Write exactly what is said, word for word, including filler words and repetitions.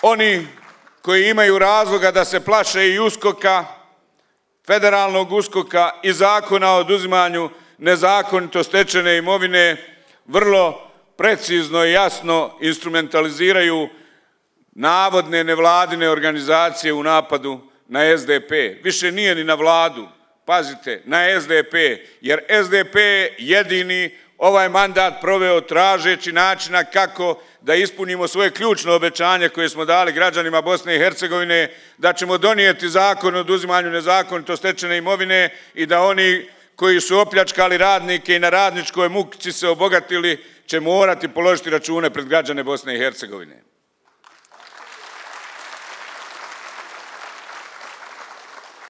oni koji imaju razloga da se plaše i uskoka, federalnog uskoka i zakona o oduzimanju nezakonito stečene imovine, vrlo precizno i jasno instrumentaliziraju navodne nevladine organizacije u napadu na S D P. Više nije ni na vladu, pazite, na S D P, jer S D P je jedini ovaj mandat proveo tražeći načina kako da ispunimo svoje ključno obećanje koje smo dali građanima Bosne i Hercegovine, da ćemo donijeti zakon o oduzimanju nezakonito stečene imovine i da oni koji su opljačkali radnike i na radničkoj muci se obogatili će morati položiti račune pred građane Bosne i Hercegovine.